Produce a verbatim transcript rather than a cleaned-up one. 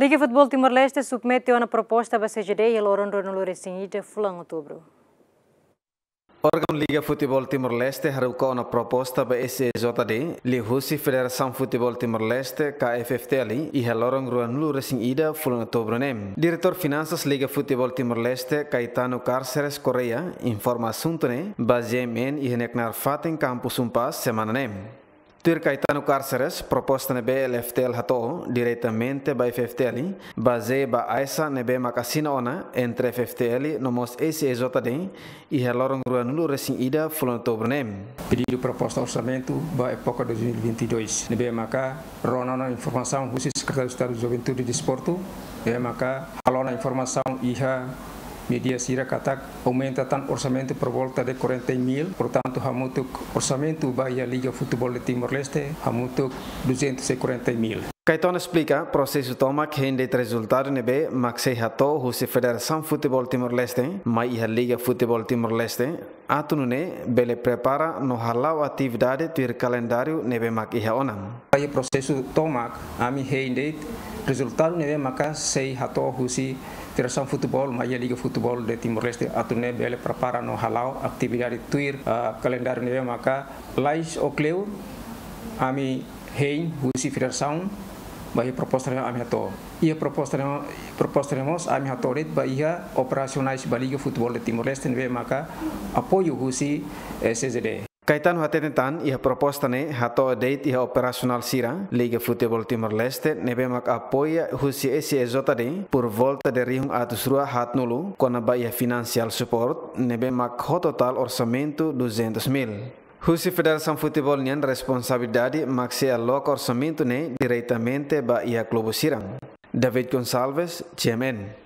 Liga Futeból Timor-Leste submete ona proposta ba C J D iha loron ruanulu-resin-ida fulan Outubru. Órgaun Liga Futeból Timor-Leste haruka ona proposta ba S J D liuhusi Federasaun Futeból Timor-Leste, ka F F T L, iha loron ruanulu-resin-ida fulan Outubru ne'e. Diretór Finansas Liga Futeból Timor-Leste, Caetano Cárceres Correia, informa asuntu ne'e ba G M N iha nia knaar fatin Kampus Unpaz semana ne'e. Tuir Caetano Cárceres, proposta ne'ebé L F T L hato'o diretamente ba F F T L, bazeia ba aisa ne'ebé mak asina ona entre F F T L no mós S J D iha loron ruanulu-resin-ida fulan Outubru ne'e. Pedidu proposta orsamentu ba époka dois mil e vinte e dois, ne'ebé maka rona ona informasaun husi Sekretáriu Estadu Juventude e Desportu, ne'ebé maka halo ona informasaun iha média sira katak aumenta tan orsamentu por volta de quarenta mil, portantu, hamutuk orsamentu ba iha Liga Futeból de Timor-Leste, hamutuk duzentos e quarenta mil. Caetano esplika, prosesu tomak hein de'it rezultadu ne'ebé mak sei hato'o husi Federasaun Futeból Timor-Leste mai iha Liga Futeból Timor-Leste, atu nune'e bele prepara no hala'o atividade tuir kalendáriu ne'ebé mak iha ona. Iha prosesu tomak, ami hein de'it rezultadu ne'ebé maka sei hato'o husi Federasaun Futeból mai iha Liga Futeból de Timor-Leste, atu nune'e bele prepara no hala'o atividade tuir, ah, kalendáriu ne'ebé maka lalais ou kleur, ami hein husi federasaun ba iha proposta ne'ebé ami hato'o. Iha proposta ne'e, proposta ne'e mós ami hato'o de'it ba iha operasionais ba Liga Futeból de Timor-Leste ne'ebé maka apoiu husi, eh, C J D. Caetano hateten tan iha proposta ne'e hato'o de'it iha operasionál sira Liga Futeból Timor-Leste ne'ebé mak apoia husi S J D por volta de rihun atus rua haatnulu, kona-ba iha financial support ne'ebé mak ho totál orsamentu duzentos mil. Husi Federasaun Futeból nian responsabilidade mak sei aloka orsamentu ne'e diretamente ba iha klube sira. David Gonçalves, G M N.